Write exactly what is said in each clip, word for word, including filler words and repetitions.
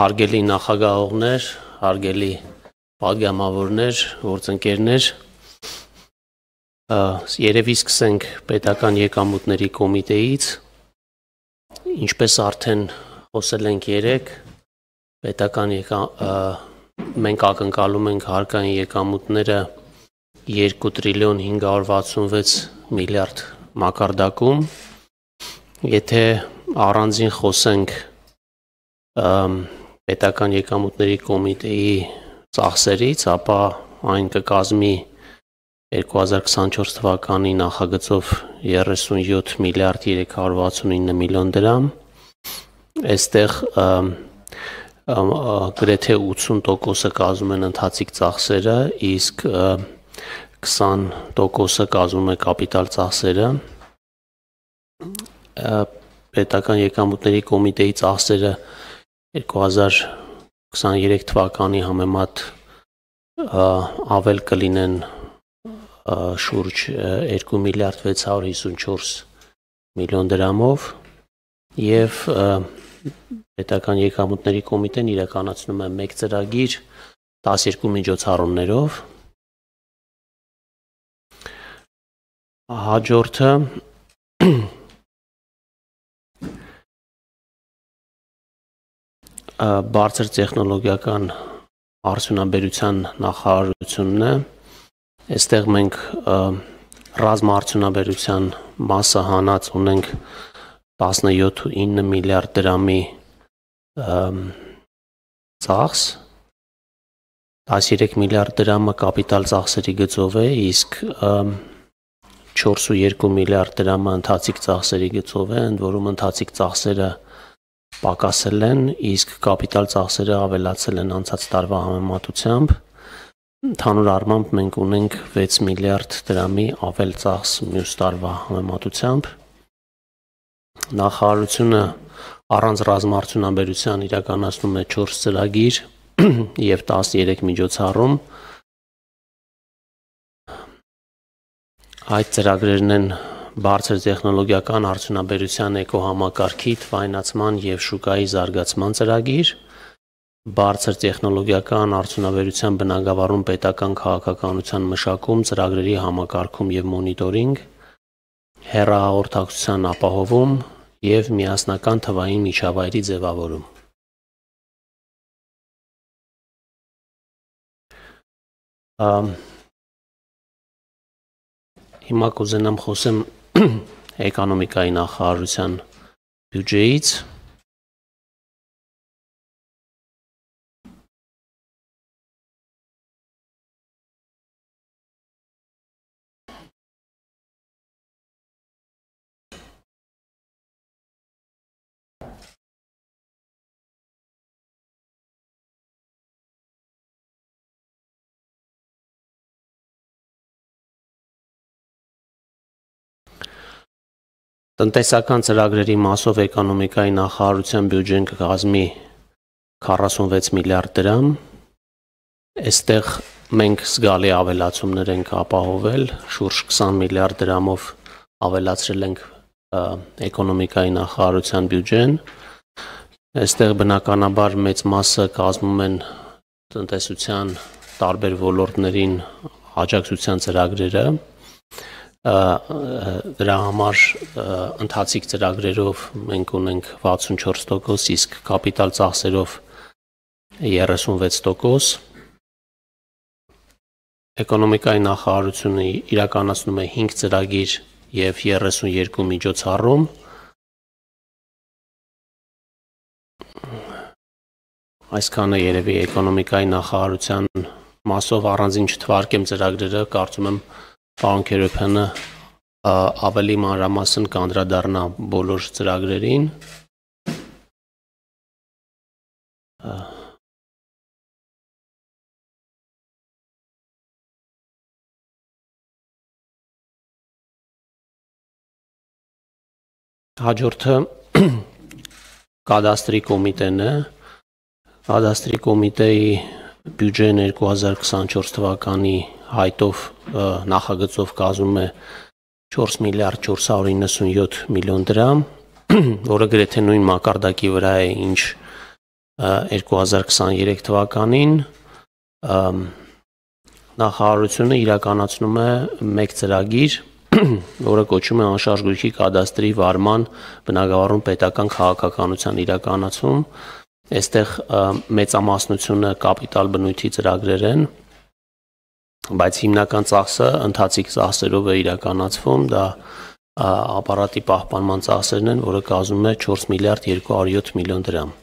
Հարգելի նախագահողներ, հարգելի պատգամավորներ, գործընկերներ, երևի սկսենք պետական եկամուտների կոմիտեից, ինչպես արդեն խոսել ենք երեկ, պետական մենք ակնկալում ենք հարկային եկամուտները երկու տրիլիոն հինգ հարյուր վաթսունվեց միլիարդ մակարդակում, եթե առանձին խոսենք պետական եկամուտների կոմիտեի ծախսերից, ապա այն կկազմի երկու հազար քսանչորս թվականի նախագծով երեսունյոթ միլիարդ երեք հարյուր վաթսունինը միլիոն դրամ, այստեղ գրեթե ութսուն տոկոսը կազմում են ընթացիկ ծախսերը, իսկ քսան տոկոսը կազմում է կապիտալ ծախսերը, պետական եկամուտների կոմիտեի ծախսերը երկու հազար քսաներեք թվականի համեմատ ավել կլինեն շուրջ երկու միլիարդ վեց հարյուր հիսունչորս միլիոն դրամով և պետական եկամուտների կոմիտեն իրականացնում է մեկ ծրագիր տասներկու միջոցառումներով, հաջորդը բարձր տեխնոլոգիական արդյունաբերության նախարարությունն է, այստեղ մենք ռազմաարդյունաբերության մասը հանած ունենք տասնյոթ ու ինը միլիարդ դրամի ծախս, տասներեք միլիարդ դրամը կապիտալ ծախսերի գծով է, իսկ չորս ու երկու միլիարդ դրամը ընթացիկ ծախսերի գծով է, ընդ որում ընթացիկ ծախսերը պակասել են, իսկ կապիտալ ծախսերը ավելացել են անցած տարվա համեմատությամբ, ընդհանուր առմամբ մենք ունենք վեց միլիարդ դրամի ավել ծախս մյուս տարվա համեմատությամբ, նախարարությունը առանց ռազմաարդյունաբերության իրականացնում է չորս ծրագիր և տասներեք միջոցառում, այդ ծրագրերն են բարձր տեխնոլոգիական արդյունաբերության էկոհամակարգի թվայնացման և շուկայի զարգացման ծրագիր, բարձր տեխնոլոգիական արդյունաբերության բնագավառում պետական քաղաքականության մշակում, ծրագրերի համակարգում և մոնիտորինգ, հեռահաղորդակցության ապահովում և միասնական թվային միջավայրի ձևավորում։ Հիմա կուզենամ խոսեմ էկոնոմիկայի նախարարության բյուջեից, տնտեսական ծրագրերի մասով էկոնոմիկայի նախարարության բյուջեն կկազմի քառասունվեց միլիարդ դրամ, այստեղ մենք զգալի ավելացումներ ենք ապահովել, շուրջ քսան միլիարդ դրամով ավելացրել ենք էկոնոմիկայի նախարարության բյուջեն, այստեղ բնականաբար մեծ մասը կազմում են տնտեսության տարբեր ոլորտներին աջակցության ծրագրերը, դրա համար ընթացիկ ծրագրերով մենք ունենք վաթսունչորս տոկոս, իսկ կապիտալ ծախսերով երեսունվեց տոկոս, էկոնոմիկայի նախարարությունը իրականացնում է հինգ ծրագիր և երեսունյոթ միջոցառում, այսքանը երևի էկոնոմիկայի նախարարության մասով առանձին չթվարկեմ ծրագրերը, կարծում եմ պարոն Քերոբյանը ավելի մանրամասն կանդրադառնա բոլոր ծրագրերին, հաջորդը կադաստրի կոմիտեն է, կադաստրի կոմիտեի բյուջեն երկու հազար քսանչորս թվականի հայտով նախագծով կազմում է չորս միլիարդ չորս հարյուր իննսունյոթ միլիոն դրամ, որը գրեթե նույն մակարդակի վրա է, ինչ երկու հազար քսաներեք թվականին նախարարությունը իրականացնում է մեկ ծրագիր, որը կոչվում է անշարժ գույքի կադաստրի վարման բնագավառում պետական քաղաքականության իրականացում։ Այստեղ մեծամասնությունը կապիտալ բնույթի ծրագրեր են, բայց հիմնական ծախսը ընթացիկ ծախսերով է իրականացվում, դա ապարատի պահպանման ծախսերն են, որը կազմում է չորս միլիարդ երկու հարյուր յոթ միլիոն դրամ։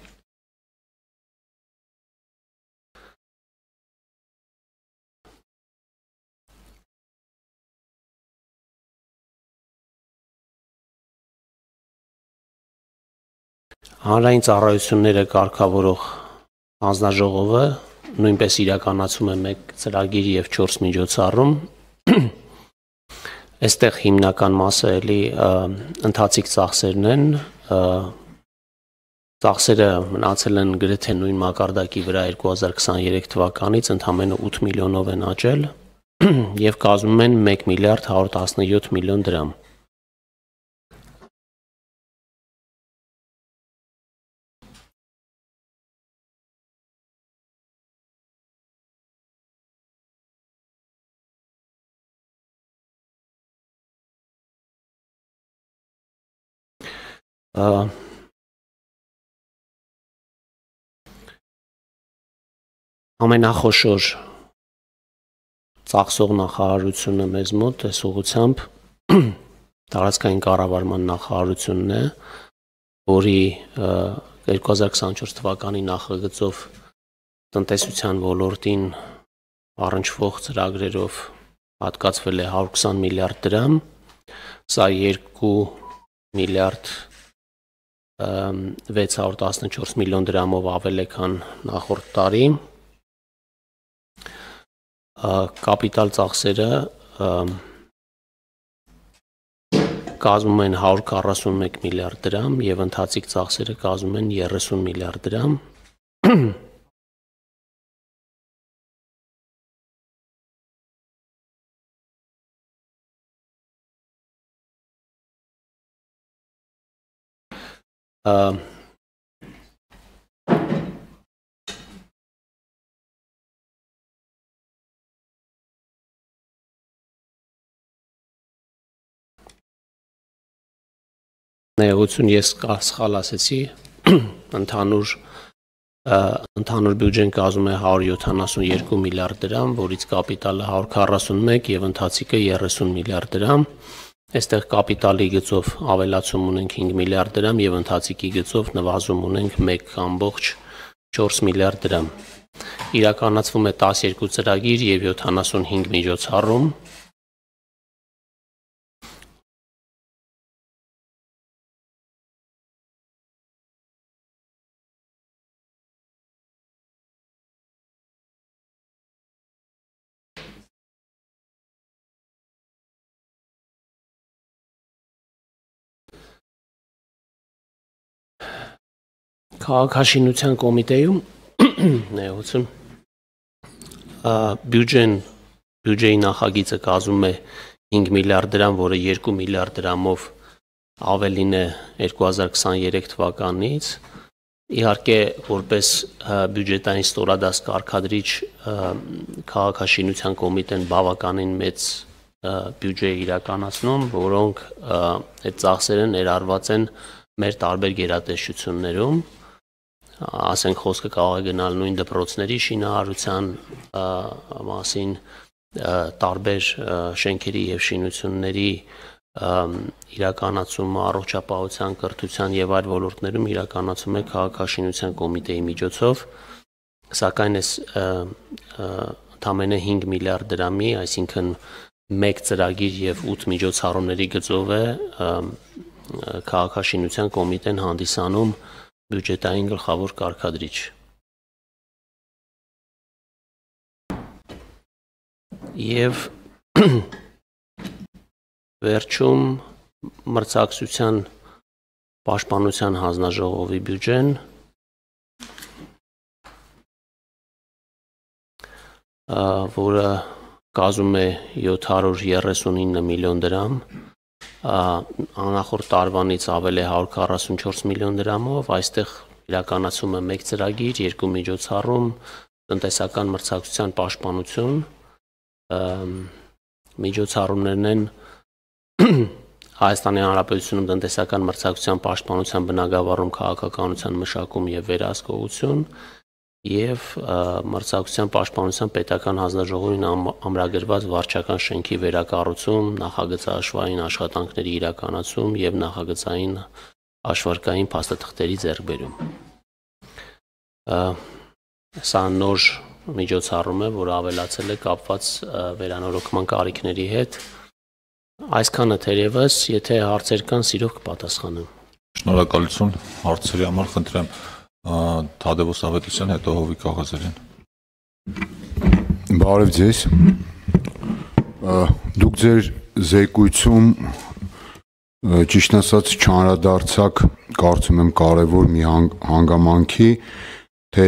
Հանրային ծառայությունները կարգավորող հանձնաժողովը նույնպես իրականացում է մեկ ծրագիր եւ չորս միջոցառում։ Այստեղ հիմնական մասը էլի ընթացիկ ծախսերն են, ծախսերը մնացել են գրեթե նույն մակարդակի վրա երկու հազար քսաներեք թվականից, ընդամենը ութ միլիոնով են աճել եւ կազմում են մեկ միլիարդ հարյուր տասնյոթ միլիոն դրամ։ Ամենախոշոր ծախսող նախարարությունը մեզ մոտ այս ուղղությամբ տարածքային կառավարման նախարարությունն է, որի երկու հազար քսանչորս թվականի նախագծով տնտեսության ոլորտին առնչվող ծրագրերով հատկացվել է հարյուր քսան միլիարդ դրամ, սա երկու միլիարդ վեց հարյուր տասնչորս միլիոն դրամով ավել է, քան նախորդ տարի։ Կապիտալ ծախսերը կազմում են հարյուր քառասունմեկ միլիարդ դրամ եւ ընթացիկ ծախսերը կազմում են երեսուն միլիարդ դրամ։ Ներողություն, ես սխալ ասեցի, ընդհանուր ընդհանուր բյուջեն կազմում է հարյուր յոթանասունյոթ միլիարդ դրամ, որից կապիտալը հարյուր քառասունմեկ եւ ընթացիկը երեսուն միլիարդ դրամ։ Այստեղ կապիտալի գծով ավելացում ունենք հինգ միլիարդ դրամ եւ ընթացիկի գծով նվազում ունենք մեկ ամբողջ չորս միլիարդ դրամ։ Իրականացվում է տասներկու ծրագիր եւ յոթանասունհինգ միջոցառում։ Քաղաքաշինության կոմիտեում ներողություն բյուջեն բյուջեի նախագիծը կազմում է հինգ միլիարդ դրամ, որը երկու միլիարդ դրամով ավելին է երկու հազար քսաներեք թվականից։ Իհարկե, որպես բյուջետային ստորադաս կարգադրիչ քաղաքաշինության կոմիտեն բավականին մեծ բյուջե է իրականացնում, որոնք այդ ծախսերը ներառված են մեր տարբեր գերատեսչություններում, ասենք խոսքը կարող է գնալ նույն դպրոցների շինարարության մասին, տարբեր շենքերի եւ շինությունների իրականացումը, առողջապահության, կրթության եւ այլ ոլորտներում իրականացում է քաղաքաշինության կոմիտեի միջոցով, սակայն այս ընդամենը հինգ միլիարդ դրամի, այսինքն մեկ ծրագիր եւ ութ միջոցառումների գծով է քաղաքաշինության կոմիտեն հանդիսանում բյուջետային գլխավոր կարգադրիչ։ Եվ վերջում մրցակցության պաշտպանության հանձնաժողովի բյուջեն, որը կազմում է յոթ հարյուր երեսունինը միլիոն դրամ, անախորդ տարվանից ավել է հարյուր քառասունչորս միլիոն դրամով, այստեղ իրականացում է մեկ ծրագիր, երկու միջոցառում, տնտեսական մրցակցության պաշտպանություն, միջոցառումներն են Հայաստանի Հանրապետությունում տնտեսական մրցակցության պաշտպանության բնագավառում քաղաքականության մշակում եւ վերահսկողություն եւ մրցակցության պաշտպանության պետական հանձնաժողովին ամրագրված վարչական շենքի վերակառուցում, նախագծաշվային աշխատանքների իրականացում եւ նախագծային հաշվարկային փաստաթղթերի ձեռքբերում։ Սա նոր միջոցառում է, որը ավելացել է կապված վերանորոգման կարիքների հետ։ Այսքանը թերևս, եթե հարցեր կան, սիրով կպատասխանեմ։ Շնորհակալություն հարցերի համար, խնդրեմ Թադևոս Ավետիսյան, հետո Հովիկ Աղազարյան։ Բարև ձեզ։ Դուք ձեր զեկույցում ճիշտ ասած չանդրադարձաք, կարծում եմ կարևոր մի հանգամանքի, թե